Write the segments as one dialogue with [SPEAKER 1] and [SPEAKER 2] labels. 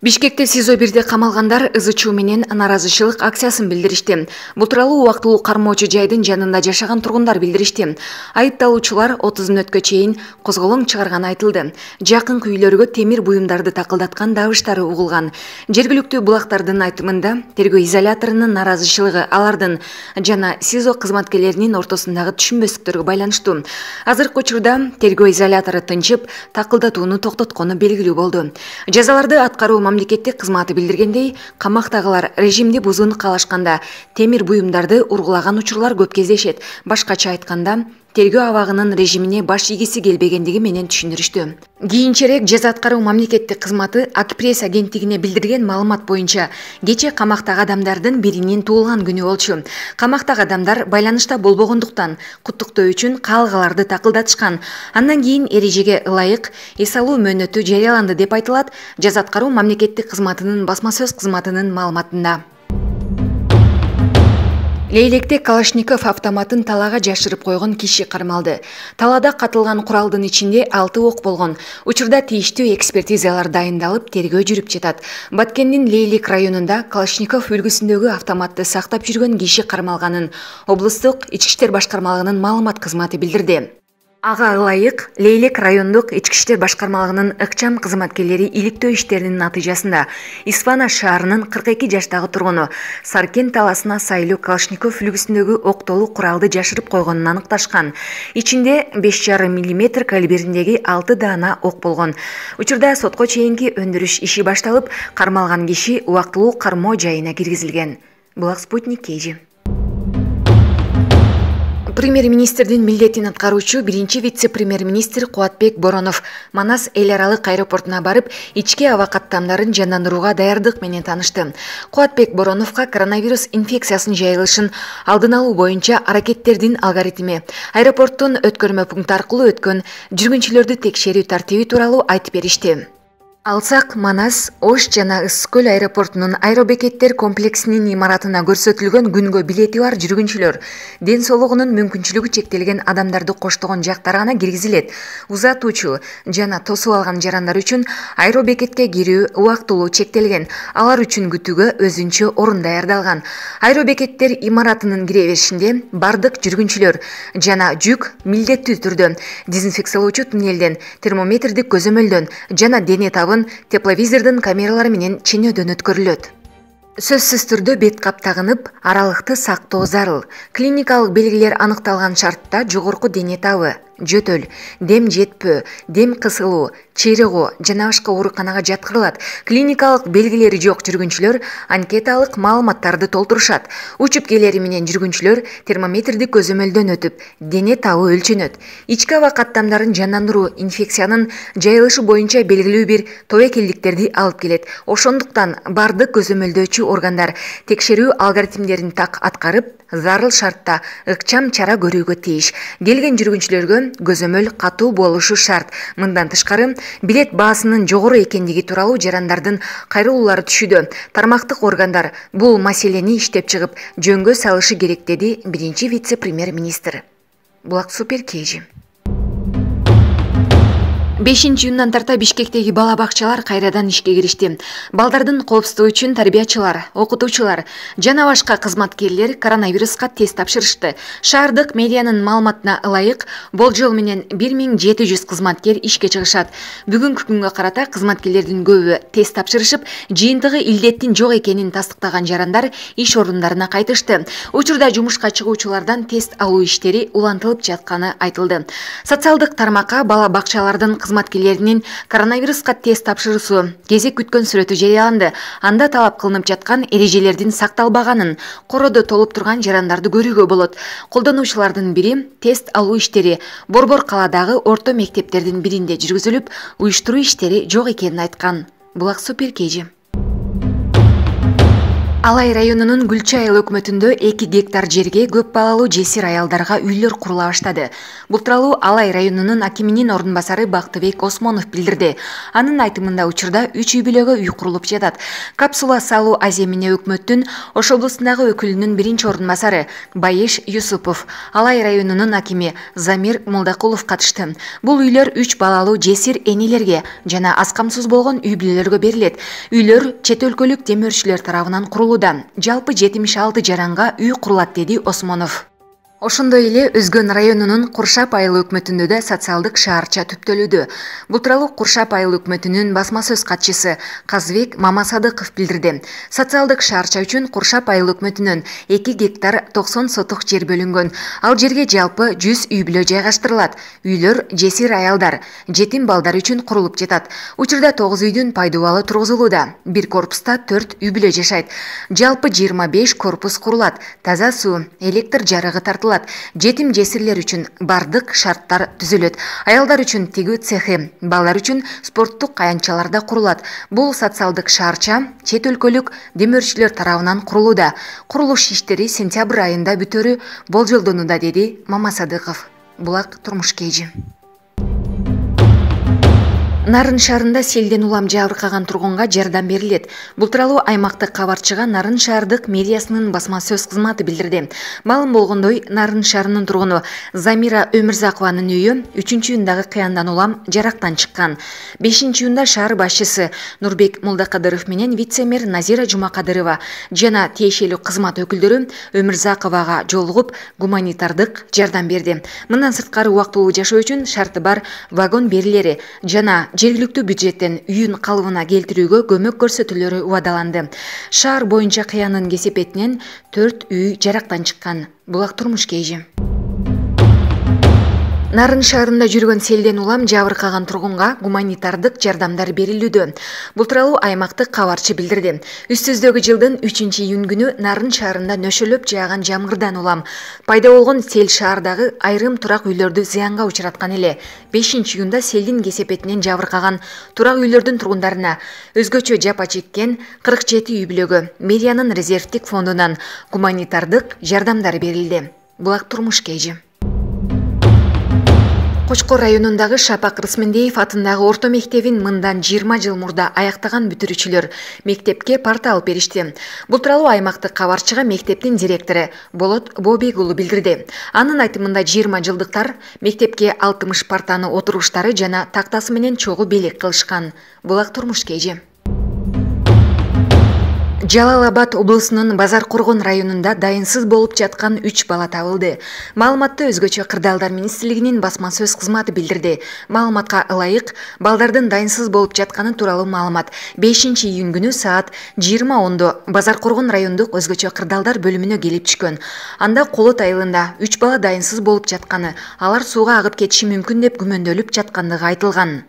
[SPEAKER 1] Бишкекте СИЗО-1де камалгандар ызы-чуу менен наразычылык акциясын билдиришти. Бул тууралуу убактылуу кармоочу жайдын жанында жашаган тургундар билдиришти. Айыпталуучулар 30-өткө чейин козголоң чыгарганы айтылды. Жакынкы үйлөргө темир буюмдарды такылдаткан дабыштары угулган. Жергиликтүү булактардын айтымында тергөө изоляторунун наразычылыгы алардын жана СИЗО кызматкерлеринин ортосундагы түшүнбөстүктөргө байланыштуу. Азыркы учурда тергөө изолятору тынчып, такылдатууну токтоткону белгилүү болду. Жазаларды аткаруу мамлекеттик кызматы билдиргендей, камактагылар режимди бузууну каалашканда темир буюмдарды ургулаган учурлар көп кездешет. Башкача айтканда, тергөө абагынын режимине баш ийгиси келбегендиги менен түшүндүрүштү. Кийинчерээк жаза аткаруу мамлекеттик кызматы Ак-пресс агенттигине билдирген маалымат боюнча кече камактагы адамдардын биринин туулган күнү болчу. Камактагы адамдар байланышта болбогондуктан куттуктоо үчүн каалгаларды такылдатышкан. Андан кийин эрежеге ылайык эс алуу мөөнөтү жарыяланды деп айтылат жаза аткаруу мамлекеттик кызматынын басма сөз кызматынын маалыматында. Лейлекте Калашников автоматын талаага жашырып койгон киши кармалды. Талаада катылган куралдын ичинде 6 ок болгон. Учурда тийиштүү экспертизалар дайындалып, тергөө жүрүп жатат. Баткендин Лейлек районунда Калашников үлгүсүндөгү автоматты сактап жүргөн киши кармалганын облустук Ички иштер башкармалыгынын маалымат кызматы билдирди. Ага ылайык Лейлек райондук Ички иштер башкармалыгынын ыкчам кызматкерлери иликтөө иштеринин натыйжасында Испана шаарынын 42 жаштагы тургуну Саркен таласына сайлуу Калашников үлгүсүндөгү октолуу куралды жашырып койгонун аныкташкан. Ичинде 5,5 мм калибриндеги 6 даана ок болгон. Учурда сотко чейинки өндүрүш иши башталып, кармалган киши убактылуу кармоо жайына киргизилген. Булак Спутник KG. Премьер-министрдин милдетин аткаруучу биринчи вице-премьер-министр Кубатбек Боронов Манас эл аралык аэропортуна барып, ички аба каттамдарын жандандырууга даярдык менен таанышты. Кубатбек Бороновго коронавирус инфекциясынын жайылышын алдын алуу боюнча аракеттердин алгоритми, аэропорттун өткөрмө пункту аркылуу өткөн жүргүнчүлөрдү текшерүү тартиби тууралуу айтып беришти. Алсак, Манас, Ош жана Ысык көл аэропортунун аэробекеттер комплексинин имаратына көрсөтүлгөн күнгө билети бар жүргүнчүлөр, ден соолугунун мүмкүнчүлүгү чектелген адамдарды коштогон жактар гана киргизилет. Узатуучу жана тосуп алган жарандар үчүн аэробекетке кирүү убактылуу чектелген. Алар үчүн күтүүгө өзүнчө орун даярдалган. Аэробекеттер имаратынын кире беришинде бардык жүргүнчүлөр жана жүк милдеттүү түрдө дезинфекциялоочу туннелден, термометрдик көзөмөлдөн жана дене табын тепловизордун камералары менен ченөөдөн өткөрүлөт. Сөзсүз түрдө бет кап тагынып, аралыкты сактоо зарыл. Клиникалык белгилер аныкталган шартта жогорку дене табы, жөтөл, дем жетпөө, дем кысылуу, чыйрыгуу жана башка ооруканага жаткырылат. Клиникалык белгилери жок жүргүнчүлөр анкеталык маалыматтарды толтурушат. Учуп келери менен жүргүнчүлөр термометрдик көзөмөлдөн өтүп, дене табы өлчөнөт. Ички аба каттамдарын жандандыруу инфекциянын жайылышы боюнча белгилүү бир тобокелдиктерди алып келет. Ошондуктан бардык көзөмөлдөөчү органдар текшерүү алгоритмдерин так аткарып, зарыл шартта ыкчам чара көрүүгө тийиш. Келген жүргүнчүлөргө көзөмөл катуу болушу шарт. Мындан тышкары, билет баасынын жогору экендиги тууралуу жарандардын кайрылуулары түшүүдө. Тармактык органдар бул маселени иштеп чыгып, жөнгө салышы керек, деди биринчи вице-премьер-министр. Булак Супер KG. 5-июндан тарта Бишкектеги бала бакчалар кайрадан ишке киришти. Балдардын коопсуздугу үчүн тарбиячылар, окутуучулар жана башка кызматкерлер коронавируска тест тапшырышты. Шаардык медианын маалыматына ылайык, болжол менен 1700 кызматкер ишке чыгышат. Бүгүнкү күнгө карата кызматкерлердин көбү тест тапшырышып, жыйынтыгы илдеттин жок экенин тастыктаган жарандар иш орундарына кайтышты. Учурда жумушка чыгуучулардан тест алуу иштери улантылып жатканы айтылды. Социалдык тармакка бала бакчалардын кызматкерлеринин коронавируска тест тапшыруусу кезек күткөн сүрөтү жарыяланды. Анда талап кылынып жаткан эрежелердин сакталбаганын, короодо толуп турган жарандарды көрүүгө болот. Колдонуучулардын бири тест алуу иштери Борбор калаадагы орто мектептердин биринде жүргүзүлүп, уюштуруу иштери жок экенин айткан. Булак Супер KG. Алай районунун Гүлчай айыл өкмөтүндө 2 гектар жерге көп балалуу жесир аялдарга үйлөр курула баштады. Бул тууралуу Алай районунун акиминин ордун басары Бактыбек Осмонов билдирди. Анын айтымында учурда 3 үй бүлөгө үй курулуп жатат. Капсула салуу аземине өкмөттүн Ош облусундагы өкүлүнүн биринчи ордун басары Байеш Юсупов, Алай районунун акими Замир Молдакулов катышты. Бул үйлөр 3 балалуу жесир энелерге жана аз камсыз болгон үй бүлөлөргө берилет. Үйлөр чет өлкөлүк демөөрчүлөр тарабынан курулууда. Жалпы 76 жаранга үй курулат, деди Осмонов. Ошондой эле Өзгөн районунун Куршап айыл өкмөтүндө да социалдык шаарча түптөлүүдө. Бул тууралуу Куршап айыл өкмөтүнүн басма сөз катчысы Казбек Мамасадыков билдирди. Социалдык шаарча үчүн Куршап айыл өкмөтүнөн 2 гектар 90 сотук жер бөлүнгөн. Ал жерге жалпы 100 үй бүлө жайгаштырылат. Үйлөр жесир аялдар, жетим балдар үчүн курулуп жатат. Учурда 9 үйдүн пайдубалы тургузулууда. Бир корпуста 4 үй бүлө жашайт. Жалпы 25 корпус курулат. Таза суу, электр жарыгы тартылат. Жетим жесирлер үчүн бардык шарттар түзүлөт. Аялдар үчүн тигүү цехи, балдар үчүн спорттук аянтчалар да курулат. Бул социалдык шаарча чет өлкөлүк демөөрчүлөр тарабынан курулууда. Курулуш иштери сентябрь айында бүтөрү болжолдонууда, деди Мамасадыков. Булак турмуш кейжи. Нарын шаарында селден улам жабыркаган тургунга жардам берилет. Бул тууралуу аймактык кабарчыга Нарын шаардык мэриясынын басма сөз кызматы билдирди. Маалым болгондой, Нарын шаарынын тургуну Замира Өмүрзакованын үйү 3-июндагы кыяндан улам жарактан чыккан. 5-июнда шаар башчысы Нурбек Молдакадыров менен вице-мэр Назира Жумакадырова жана тиешелүү кызмат өкүлдөрү Өмүрзаковага жолугуп гуманитардык жардам берди. Мындан сырткары убактылуу жашоо үчүн шарты бар вагон берилери жана жергиликтүү бюджеттен үйүн калыбына келтирүүгө көмөк көрсөтүүлөрү убадаланды. Шаар боюнча кыянын кесепетинен 4 үй жарактан чыккан. Булак турмуш кейжи. Нарын шаарында жүргөн селден улам жабыркаган тургунга гуманитардык жардамдар берилүүдө. Бул тууралуу аймактык кабарчы билдирди. Үстүздөгү жылдын 3-июн күнү Нарын шаарында нөшөлөп жааган жамгырдан улам пайда болгон сел шаардагы айрым турак үйлөрдү зыянга учураткан эле. 5-июнда селдин кесепетинен жабыркаган турак үйлөрдүн тургундарына өзгөчө жапа чеккен 47 үй бүлөгө мэриянын резервдик фондунан гуманитардык жардамдар берилди. Булак турмуш кейжи. Кочкор районундагы Шапак Рысмендеев атындагы орто мектебин мындан 20 жыл мурда аяктаган бүтүрүүчүлөр мектепке парта алып беришти. Бул тууралуу аймактык кабарчыга мектептин директору Болот Бобек уулу билдирди. Анын айтымында 20 жылдыктар мектепке 60 партаны отуруштары жана тактасы менен чогуу белек кылышкан. Булак турмуш кейжи. Жалал-Абад облусунун Базар Коргон районунда дайынсыз болуп жаткан 3 бала табылды. Маалыматты өзгөчө Кырдаалдар министрлигинин басма сөз кызматы билдирди. Маалыматка ылайык, балдардын дайынсыз болуп жатканы тууралуу маалымат 5-июнь күнү саат 20:10 Базар Коргон райондук өзгөчө Кырдаалдар бөлүмүнө келип түшкөн. Анда Колот айылында 3 бала дайынсыз болуп жатканы, алар сууга агып кетиши мүмкүн деп күмөндөлүп жаткандыгы айтылган.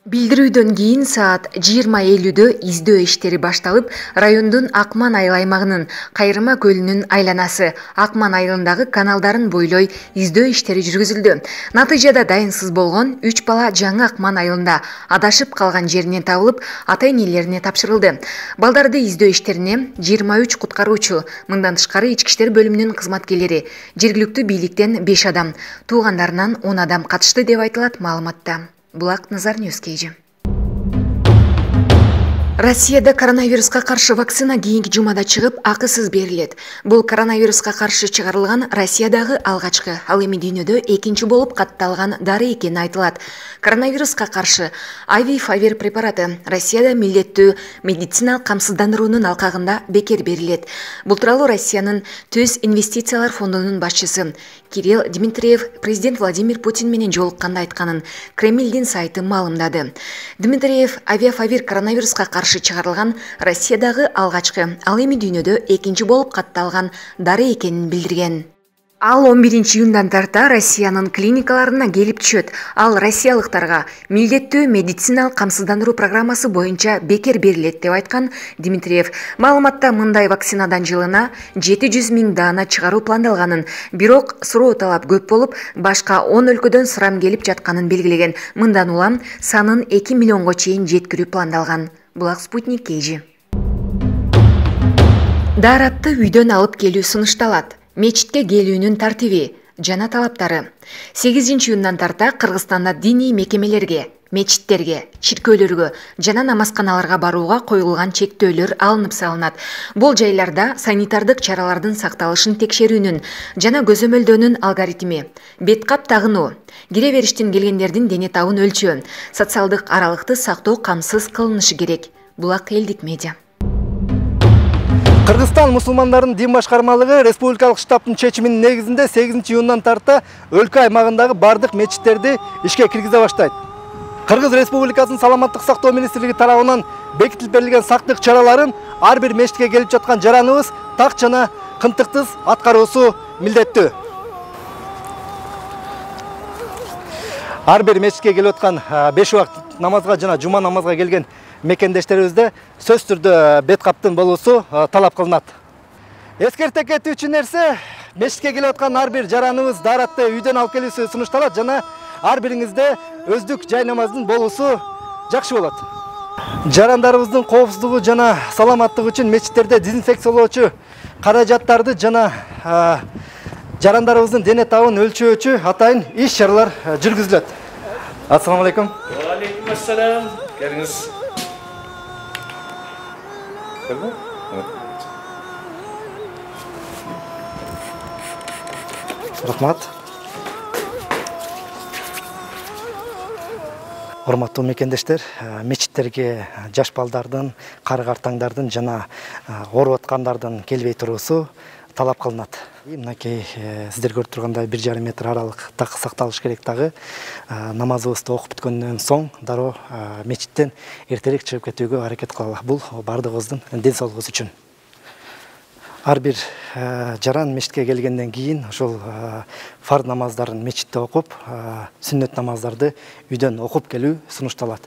[SPEAKER 1] Билдирүүдөн кийин саат 20:50 издөө иштери башталып, райондун Акман айыл аймагынын Кайрыма көлүнүн айланасы Акман айылындагы каналдарын бойлой издөө иштери жүргүзүлдү. Натыйжада дайынсыз болгон 3 бала жаңы Акман айылында адашып калган жеринен табылып, ата-энелерине тапшырылды. Балдарды издөө иштерине 23 куткаруучу, мындан тышкары ички иштер бөлүмүнүн кызматкерлери, жергиликтүү бийликтен 5 адам, туугандарынан 10 адам катышты деп айтылат маалыматта. Булак Назар Ньюс кейжи. Россияда коронавируска каршы вакцина кийинки жумада чыгып, акысыз берилет. Бул коронавируска каршы чыгарылган Россиядагы алгачкы, ал эми дүйнөдө экинчи болуп катталган дары экени айтылат. Коронавируска каршы Авифавир препараты Россияда милдеттүү медициналык камсыздандыруунун алкагында бекер берилет. Бул тууралуу Россиянын Төз инвестициялар фондунун башчысы Кирилл Дмитриев президент Владимир Путин менен жолукканда айтканын Кремлдин сайты маалымдады. Дмитриев Авифавир коронавируска каршы чыгарылган Россиядагы алгачкы, ал эми дүйнөдө экинчи болуп катталган дары экенин билдирген. Ал 11-июндан тарта Россиянын клиникаларына келип түшөт. Ал россиялыктарга милдеттүү медициналык камсыздандыруу программасы боюнча бекер берилет деп айткан Дмитриев. Маалыматта мындай вакцинадан жылына 700 000 даана чыгаруу пландалганын, бирок суроо талап көп болуп, башка 10 өлкөдөн сурам келип жатканын белгилеген. Мындан улам санын 2 миллионго чейин жеткирүү пландалган. Булак Спутник кейжи. Daarатты үйдөн алып келүү сунушталат. Мечитке келүүнүн тартиби жана талаптары. 8-июндан тарта Кыргызстанда диний мекемелерге, мечиттерге, чиркөөлөргө жана намазканаларга барууга коюлган чектөөлөр алынып салынат. Бул жайларда санитардык чаралардын сакталышын текшерүүнүн жана көзөмөлдөөнүн алгоритми, бет кап тагынуу, кире бериштен келгендердин дене табын өлчөө, социалдык аралыкты сактоо камсыз кылынышы керек. Булак элдик медиа.
[SPEAKER 2] Кыргызстан мусулмандарынын дин башкармалыгы республикалык штабтын чечиминин негизинде 8-июндан тарта өлкө аймагындагы бардык мечиттерди ишке киргизе баштайт. Кыргыз Республикасынын саламаттык сактоо министрлиги тарабынан бекитилип берилген сактык чараларын ар бир мечитке келип жаткан жараныбыз так жана кынтыктыз аткаруусу милдеттүү. Ар бир мечитке келип аткан 5 убакыт намазга жана жума намазга келген мекендештерибизде сөз түрдө бет каптын болуусу талап кылынат. Эскерте кетүүчү нерсе, мечитке келип аткан ар бир жараныбыз daarатты үйдөн алып келүүсү сунушталат жана ар бириңизде өздүк жай намаздын болуусу жакшы болот. Жарандарыбыздын коопсуздугу жана саламаттыгы үчүн мечиттерде дезинфекциялоочу каражаттарды жана жарандарыбыздын дене табын өлчөөчү атайын иш-чаралар жүргүзүлөт. Ассаламу алейкум.
[SPEAKER 3] Ва алейкум ассалам. Келиңиз.
[SPEAKER 2] Рахмат. Урматтуу мекендештер, мечиттерге жаш балдардын, кары картаңдардын жана ооруп аткандардын келбей туруусу талап кылынат. Мынакей сиздер көрүп тургандай 1,5 метр аралык так сакталыш керек дагы. Намазыбызды окуп бүткөндөн соң дароо мечиттен эртерээк чыгып кетүүгө аракет кылалы. Бул бардыгыбыздын ден соолугубуз үчүн. Ар бир жаран мечитке келгенден кийин ошол фарз намаздарын мечитте окуп, сүннөт намаздарды үйдөн окуп келүү сунушталат.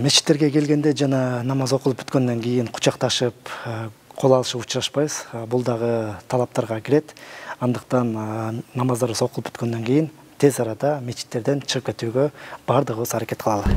[SPEAKER 2] Мечиттерге келгенде жана намаз окулуп бүткөндөн кийин кучакташып, кол алышып учурашпайбыз. Бул дагы талаптарга кирет. Андыктан намаздарыбыз окулуп бүткөндөн кийин тез арада мечиттерден чыгып кетүүгө бардыгыбыз аракет кылалы.